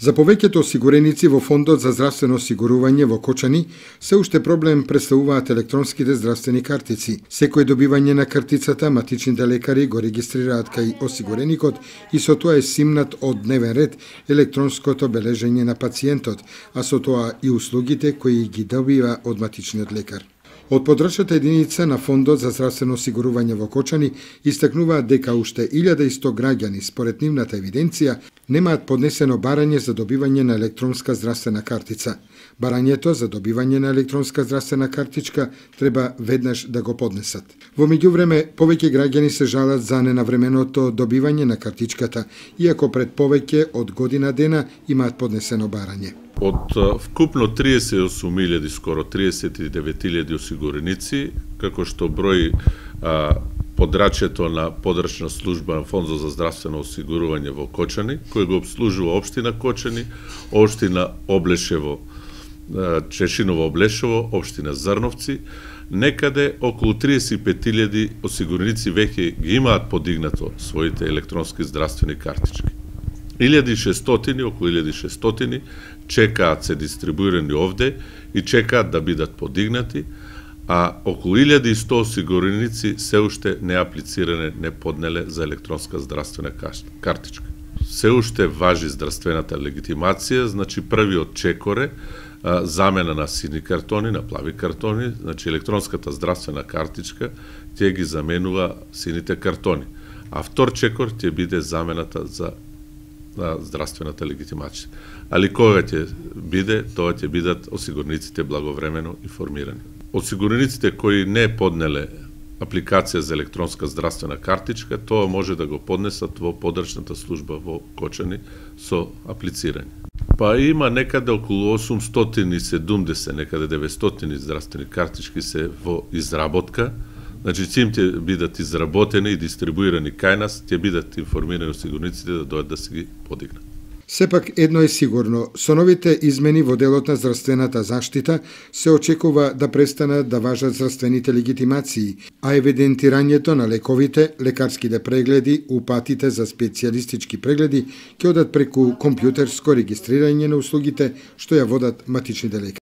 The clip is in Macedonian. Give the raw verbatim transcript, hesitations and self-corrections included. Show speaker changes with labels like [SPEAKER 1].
[SPEAKER 1] За повеќето осигуреници во Фондот за здравствено осигурување во Кочани, се уште проблем представуваат електронските здравствени картици. Секој добивање на картицата, матичните лекари го регистрираат кај осигуреникот и со тоа е симнат од дневен ред електронското бележење на пациентот, а со тоа и услугите кои ги добива од матичниот лекар. Од подрачната единица на Фондот за здравствено осигурување во Кочани истакнуваат дека уште илјада и сто граѓани, според нивната евиденција, немаат поднесено барање за добивање на електронска здравствена картица. Барањето за добивање на електронска здравствена картичка треба веднаш да го поднесат. Во меѓувреме, повеќе граѓани се жалат за ненавременото добивање на картичката, иако пред повеќе од година дена имаат поднесено барање.
[SPEAKER 2] Од вкупно триесет и осум илјади, скоро триесет и девет илјади осигуреници, како што брои а, подрачјето на подрачна служба на Фондот за здравствено осигурување во Кочани, кој го обслужува општина Кочани, општина Облешево, Чешиново Облешево, општина Зрновци, некаде околу триесет и пет илјади осигуреници веќе ги имаат подигнато своите електронски здравствени картички. илјада и шестстотини, околу илјада и шестстотини чекаат се дистрибуирани овде и чекаат да бидат подигнати, а околу илјада и сто осигуреници се уште не аплициране, не поднеле за електронска здравствена картичка. Се уште важи здравствената легитимација, значи првиот чекор е а, замена на сини картони, на плави картони, значи електронската здравствена картичка ќе ги заменува сините картони, а втор чекор ќе биде замената за на здравствената легитимација. Али кога ќе биде, тоа ќе бидат осигурениците благовремено информирани. Осигурениците кои не поднеле апликација за електронска здравствена картичка, тоа може да го поднесат во подрачната служба во Кочани со аплицирање. Па има некаде околу осумстотини и седумдесет, некаде деветстотини здравствени картички се во изработка. Значи, чим ќе бидат изработени и дистрибуирани кај нас, ќе бидат информирани осигурениците да дојдат да се ги подигнат.
[SPEAKER 1] Сепак едно е сигурно, со новите измени во делот на здравствената заштита се очекува да престанат да важат здравствените легитимации, а евидентирањето на лековите, лекарските прегледи, упатите за специјалистички прегледи ќе одат преку компјутерско регистрирање на услугите што ја водат матичните лекари.